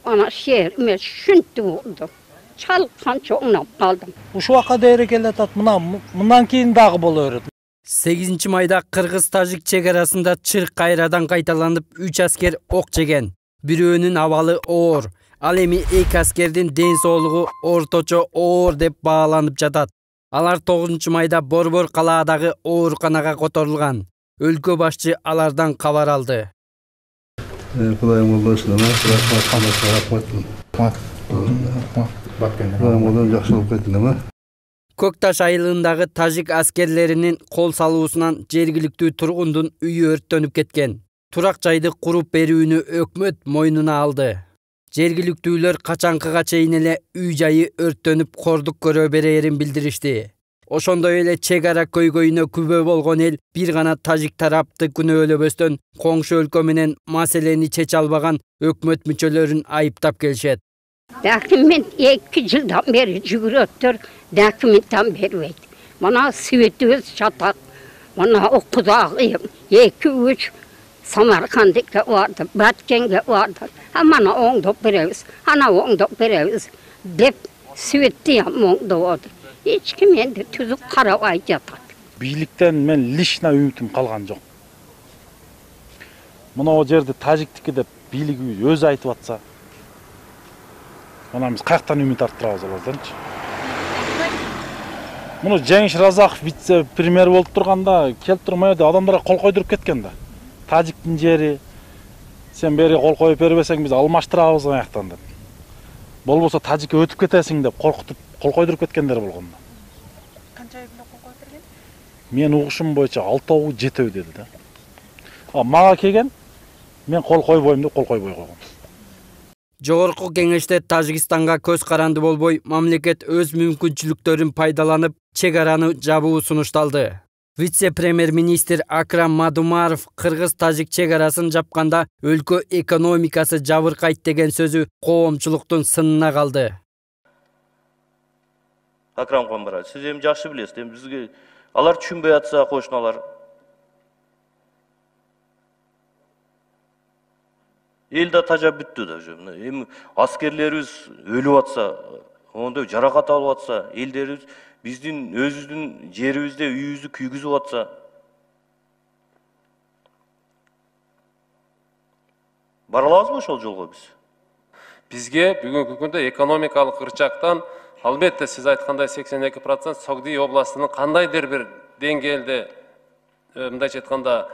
ana şehir emес şüntü oldu. Çalkan çoğunap kaldım. Uşu vaka değeri kelletат, mından keyin dagı bolor. 8 майда Кыргыз-Тажик чек арасында чыр кайрадан кайталанып 3 аскер ок жеген. Бирөөнүн абалы оор. Ал эми 2 аскердин ден соолугу орточо оор деп бааланып жатат. Алар 9 майда Борбор калаадагы ооруканага которулган. Өлкө башчы алардан кабар алды. Көк Таш айылындагы тажик аскерлеринин кол салуусунан жергиликтүү тургундун үйү өрттөнүп кеткен. Турак жайды куруп берүүнү өкмөт мойнуна алды. Жергиликтүүлөр качанкыга чейин эле үй жайы өрттөнүп кордук көрө берерин билдиришти. Ошондой эле чек ара көйгөйүнө күбө болгон эл бир гана тажик тарапты күнөөлөбөстөн коңшу өлкө менен маселени чече албаган өкмөт мүчөлөрүн айыптап келишет. Документ 2 жылдан бери жүгүрөттөр, документтен бербейт. Мына светибиз жатат. Мына окудагы 2-3 Самаркандыкка барды, Баткенге барды. Мана оңдоп беребиз, ана оңдоп беребиз деп светти оңдоп. Эч ким энди түзүк карабай жатат. Бийликтен мен лично үмүтүм калган жок. Мына жерде тажиктики деп бийлик өзү айтып атса, мына биз каяктан үмүт арттырабыз аларданчы? Муну Жеңиш Разаков вице-премьер болуп турганда келип турмай адамдарга кол койдуруп кеткен да. Тажиктин жери сен бери кол коюп бербесең биз алмаштырабыз аяктан деп. Болбосо тажикке өтүп кетесиң деп коркутуп кол койдуруп кеткендер болгон да. Канча ай кол коюп берген? Мен угушум боюнча 6-7 деди да. Мага келген мен кол койбойм деп кол койбой койгон. Жогорку кеңеште Тажикстанга көз каранды болбой, мамлекет өз мүмкүнчүлүктөрүн пайдаланып, чек араны жабуу сунушталды. Вице-премьер-министр Акрам Мадумаров Кыргыз-Тажик чек арасын жапканда өлкө экономикасы жабыркайт деген сөзү коомчулуктун сынына калды. Акрам Камбара, сиз эми жакшы билесиз, эми бизге алар түшүнбөй атса кошуналар. Эл да тажап бүттү да. Эми аскерлерибиз өлүп атса, ондой жаракат алып атса, элдерибиз биздин өзүбүздүн жерибизде үйүбүздү күйгүзүп атса, бара алабызбы ошол жолго биз? Бизге бүгүнкү күндө экономикалык ырчактан албетте сиз айткандай 82% Согди областынын кандайдыр бир деңгээлде мындайча айтканда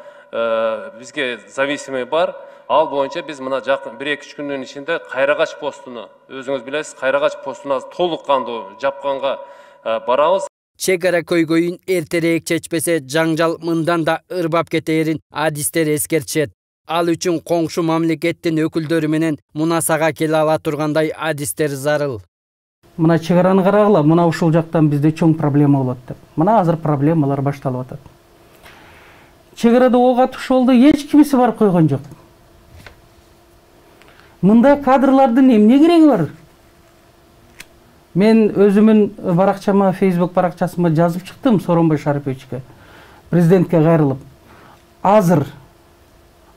бизге зависимый бар. Ал боюнча биз мына жакын 1-2 күндүн ичинде Кайрагач постуну, өзүңүз билесиз, Кайрагач постуна толук кандуу жапканга барабыз. Чек ара көйгөйүн эртерээк чечпесе, жаңжал мындан да ырбап кетээрин адистер эскертишет. Ал үчүн коңшу мамлекеттин өкүлдөрү менен мунасага келе ала тургандай адистер зарыл. Мына чек араны карагыла, мына ушул жактан бизде чоң проблема болот деп. Мына азыр проблемалар башталып атат. Чек арада ок атыш болду, эч кимиси барып койгон жок. Мындай кадрлардын эмне кереги бар? Мен өзүмүн баракчама, Facebook баракчасыма жазып чыктым Сооронбай Шариповичке, президентке кайрылып. Азыр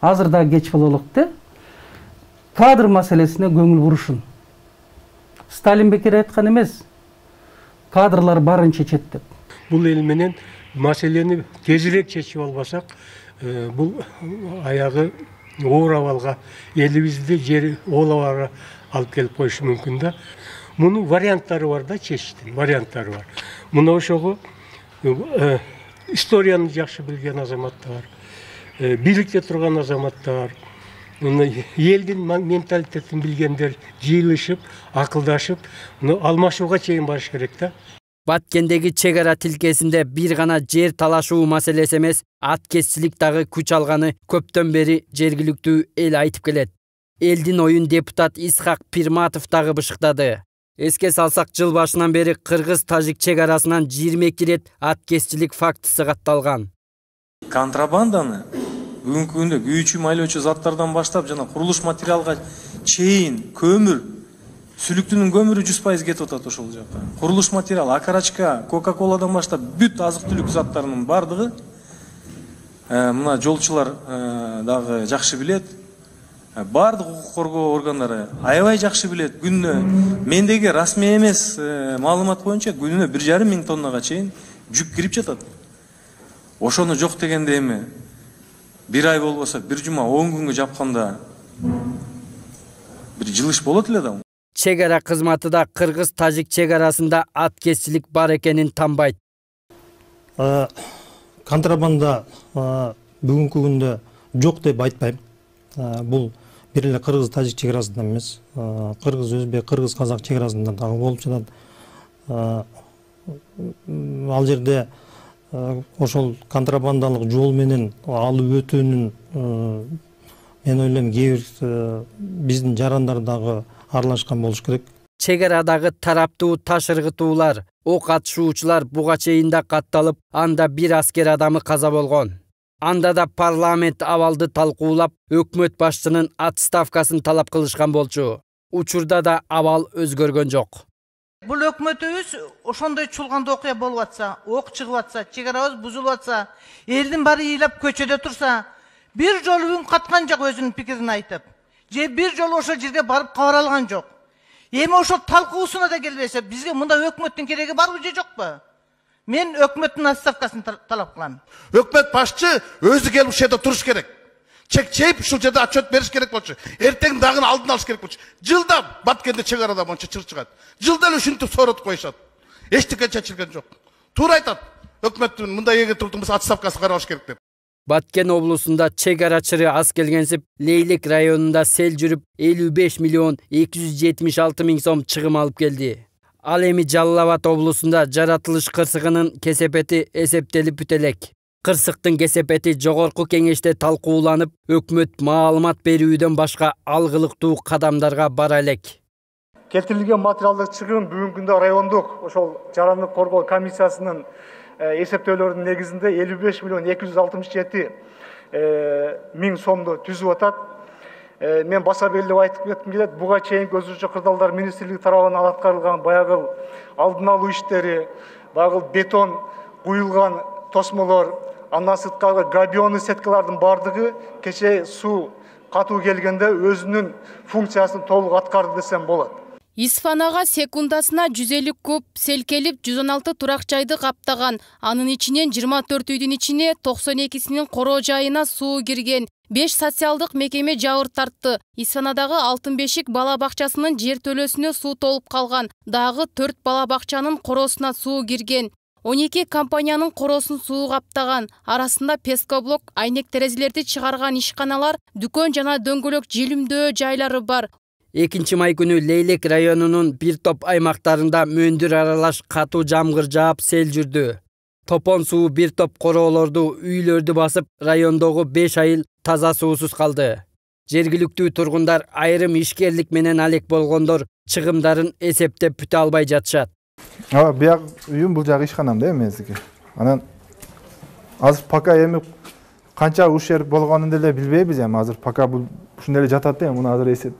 да кеч бололук да. Кадр маселесине көңүл бурушун. Сталин бекер айткан эмес. Кадрлар барын чечет деп. Бул эл менен маселени тезирээк чечип албасак, бул аягы оор абалга, элибизди жери оолабара алып келип коюшу мүмкүн да. Мунун варианттары бар да, чечиштин варианттары бар. Мына ошого историяны жакшы билген азаматтар, бийликте турган азаматтар, элдин менталитетин билгендер жыйылышып, акылдашып, алмашууга чейин барыш керек да. Баткендеги чек ара тилкесинде бир гана жер талашуу маселеси эмес, аткезчилик дагы күч алганы көптөн бери жергиликтүү эл айтып келет. Элдин оюн депутат Исхак Пирматов дагы бышыктады. Эске салсак, жыл башынан бери Кыргыз-Тажик чек арасынан 22 рет аткезчилик фактысы катталган. Контрабанданы бүгүнкү күндө күйүүчү майлоочу заттардан баштап жана курулуш материалга чейин көмүр, сүлүктүнүн көмүрү 100% кетип атат ошол жака. Курулуш материал, акарачка, Кока-коладан баштап бүт азык-түлүк заттарынын бардыгы мына жолчулар дагы жакшы билет. Бардык укук коргоо органдары аябай жакшы билет. Күнүнө мендеги расмий эмес маалымат боюнча күнүнө 1,5 миң тоннага чейин жүк кирип жатат. Ошону жок дегенде эми бир ай болбосо бир жума 10 күнгө жапканда бир жылыш болот эле да. Чек ара кызматы да кыргыз-тажик чек арасында аткезчилик бар экенин танбайт. Контрабанда бүгүнкү күндө жок деп айтпайм. Бул бир эле кыргыз-тажик чек арасында эмес, кыргыз-өзбек, кыргыз-казак чек арасында дагы болуп жатат. Ал жерде ошол контрабандалык жол менен алып өтүүнүн мен ойлойм кээ бир биздин жарандар дагы аралашкан болуш керек. Чек арадагы тараптуу таш ыргытуулар, ок атышуучулар буга чейин да катталып, анда бир аскер адамы каза болгон. Анда да парламент абалды талкуулап, өкмөт башчынын отставкасын талап кылышкан болчу. Учурда да абал өзгөргөн жок. Бул өкмөтүбүз ошондой чулганда окуя болуп атса, ок чыгып атса, чек арабыз бузулуп атса, элдин баары ыйлап көчөдө турса, бир жолу үн каткан жок өзүнүн пикирин айтып. Же бир жолу ошол жерге барып кабар алган жок. Эми ошол талкуусуна да келбесе, бизге мында өкмөттүн кереги барбы же жокпу? Мен өкмөттүн отставкасын талап кылам. Өкмөт башчы өзү келип ушул жерде туруш керек. Чек чейип ушул жерде отчет бериш керек болчу. Эртең дагы алдын алыш керек болчу. Жылда Баткенде чек арада монча чыр чыгат. Жылда эле ушинтип соротуп коюшат. Эчтеке чечилген жок. Туура айтат. Өкмөттүн мындай эге турдун болсо отставкасы каралыш керек деп. Баткен облусунда чек арачыры аз келгенсип, Лейлек районунда сел жүрүп 55 миллион 276 миң сом чыгым алып келди. Ал эми Жалал Абад облусунда жаратылыш кырсыгынын кесепети эсептелип бүтө элек. Кырсыктын кесепети жогорку кеңеште талкууланып, өкмөт маалымат берүүдөн башка алгылыктуу кадамдарга бара элек. Келтирилген материалдык чыгым бүгүнкү күндө райондук ошол жарандык коргоо комиссиясынын эсептөөлөрүнүн негизинде 55 миллион 267 миң сомду түзүп атат. Мен баса белгилеп айтып кетким келет. Буга чейинки өзүнчө кырдаалдар министрлиги тарабынан аткарылган баягы алдын алуу иштери, баягы бетон куюлган тосмолор, андан сырткары габионный сеткалардын бардыгы кечээ суу катуу келгенде өзүнүн функциясын толук аткарды десем болот. Исфанага секундасына 150 куб сел келип 116 турак жайды каптаган. Анын ичинен 24 үйдүн ичине 92синин короо жайына суу кирген. 5 социалдык мекеме жабыр тартты. Исфанадагы Алтын Бешик бала бакчасынын жер төлөсүнө суу толуп калган. Дагы 4 бала бакчанын короосуна суу кирген. 12 компаниянын короосун суу каптаган. Арасында пескоблок, айнек терезелерди чыгарган ишканалар, дүкөн жана дөңгөлөк желимдөө жайлары бар. 2 май күнү Лейлек районунун бир топ аймактарында мөндүр аралаш катуу жамгыр жаап сел жүрдү. Топон суу бир топ короолорду, үйлөрдү басып, райондогу 5 айыл таза суусуз калды. Жергиликтүү тургундар айрым ишкерлик менен алек болгондор чыгымдарын эсептеп бүтө албай жатышат. Бияк үйүм бул жагы ишканам да эмездики. Анан азыр пока эми канча ушер болгонун деле билбейбиз эми азыр пока бул ушундай эле жатат да муну азыр эсеп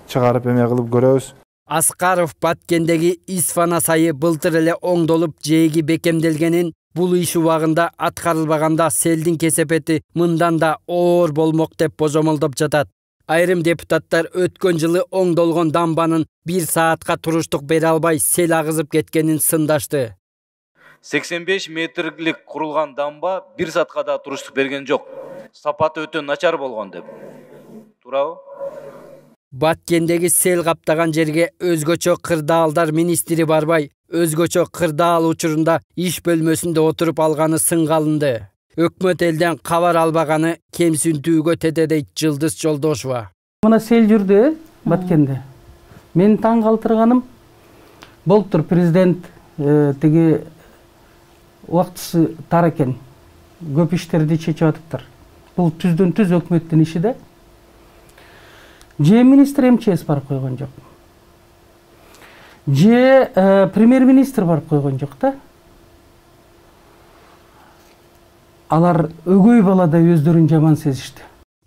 чыгарып эме кылып көрөбүз. Аскаров Баткендеги Исфана сайы былтыр эле оңдолуп жээги бекемделгенин, бул иш убагында аткарылбаганда селдин кесепети мындан да оор болмок деп божомолдоп жатат. Айрым депутаттар өткөн жылы оңдолгон дамбанын 1 саатка туруштук бере албай сел агызып кеткенин сындашты. 85 метрлик курулган дамба 1 саатка да туруштук берген жок. Сапаты өтө начар болгон деп. Туурабы? Баткендеги сел каптаган жерге өзгөчө кырдаалдар министри барбай, өзгөчө кырдаал учурунда иш бөлмөсүндө отуруп алганы сынга алынды. Өкмөт элден кабар албаганы кемсинтүүгө тете дейт Жылдыз Жолдошова. Мына сел жүрдү Баткенде. Мени таң калтырганым болуптур президент тиги убактысы тар экен. Көп иштерди чечип атыптыр. Бул түздөн түз өкмөттүн иши да. Же министр МЧС барып койгон жок. Же премьер-министр барып койгон жок да. Алар өгөй баладай өздөрүн жаман сезишти.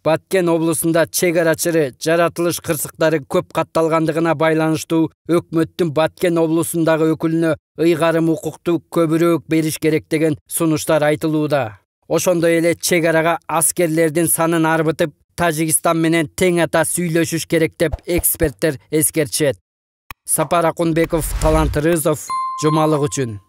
Баткен облусунда чек арачыры, жаратылыш кырсыктары көп катталгандыгына байланыштуу өкмөттүн Баткен облусундагы өкүлүнө ыйгарым укукту көбүрөөк бериш керек деген сунуштар айтылууда. Ошондой эле чек арага аскерлердин санын арбытып, Тажикстан менен тең ата сүйлөшүш керек деп эксперттер эскертишет. Сапар Акунбеков, Талант Рызов, Жумалык үчүн.